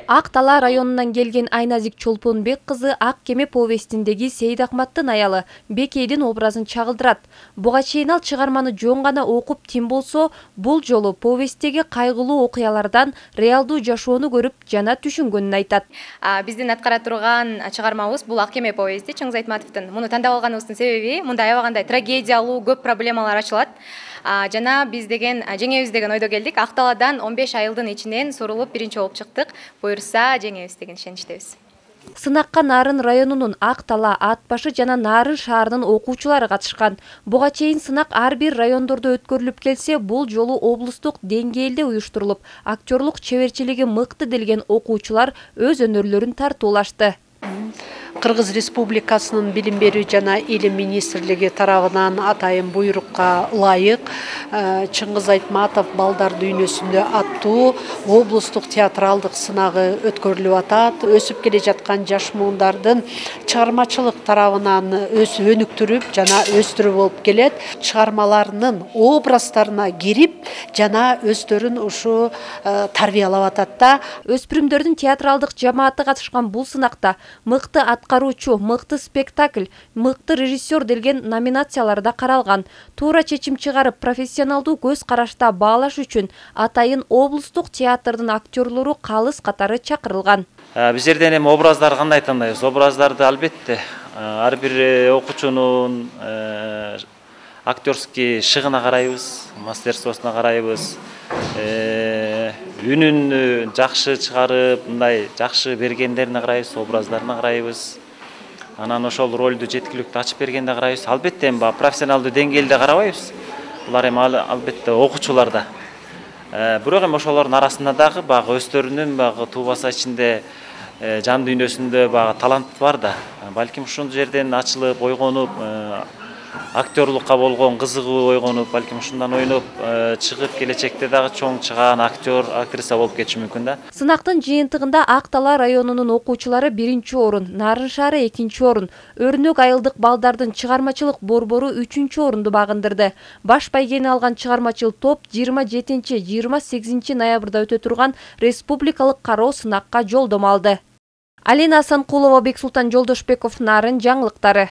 Ак Тала районунан келген Айназик Чолпонбек кызы Ак кеме повестиндеги Сейдахматтын аялы Бекейдин образын чагылдырат. Буга чейин ал чыгарманы жөн гана окуп тим болсо, бул жолу повесттеги кайгылуу окуялардан реалдуу жашоону көрүп жана түшүнгөнүн айтат. Биздин аткара турган чыгармабыз бул Ак кеме повести Чыңгыз Айтматовдун. Муну тандап алганыбыздын себеби мында аябагандай трагедиялуу көп проблемалар ачылат. Жана биз деген жеңебиз деген ойдо келдик. Ак Таладан 15 айылдын ичинен сурулуп биринчи болуп чыктык. Буюрса жеңебиз деген ишеничтебиз. Сынакка Нарын районунун Ак Тала, Ат башы жана Нарын шаарынын окуучулары катышкан. Буга чейин сынак ар бир райондордо өткөрүлүп келсе, бул жолу облустук деңгээлде уюштурулуп, актерлук чеберчилиги мыкты делген окуучулар өз өнөрлөрүн тартуулашты. Кыргыз Республикасынын Билим берүү жана Илим министрлиги тарабынан атайын буйрукка ылайык Чыңгыз Айтматов балдар дүйнөсүндө аттуу облустук театралдык сынагы өткөрүлүп атат. Өсүп келе жаткан жаш муундардын чыгармачылык тарабынан өнүктүрүп жана өстүрүү болуп келет. Чыгармаларынын образдарына кирип жана өздөрүн ушу тарбиялап атат да. Өспүрүмдөрдүн театралдык жамааты катышкан бул сынакта мыкты аткаруучу, мыкты спектакль, мыкты режиссер делген номинацияларда каралган. Туура чечим чыгарып, профессионалдуу көз карашта баалаш үчүн атайын облустук театрдын актерлору калыс катары чакырылган. Биздерден эми образдарды кандай тандайбыз? Образдарды албетте ар бир окуучунун актерский шыгына карайбыз, мастерствосуна карайбыз. Үнүн жакшы чыгарып, мындай жакшы бергендерине карайбыз, образдарына карайбыз. Анан ошол ролду жеткиликтүү ачып бергенде карайбыз. Албетте эми профессионалдуу деңгээлде карабайбыз. Булар эми албетте окуучуларда. Бирок эми ошолордун арасында дагы өздөрүнүн туубаса ичинде жан дүйнөсүндө талант бар да. Балким ушул жерден ачылып, ойгонуп, актерлукка болгон кызыгуу ойгонуп, балким ушундан ойноп чыгып келечекте дагы чоң чыгаан актер, актриса болуп кетиши мүмкүн да. Сынактын жыйынтыгында Ак Тала районунун окуучулары 1-чи орун, Нарын шаары 2-чи орун, Өрнөк айылдык балдардын чыгармачылык борбору 3-чү орунду багындырды. Баш байгени алган чыгармачыл топ 27-28 ноябрда өтө турган республикалык кароо сынакка жолдомо алды. Алина Асанкулова, Бексултан Жолдошбеков, Нарын жаңылыктары.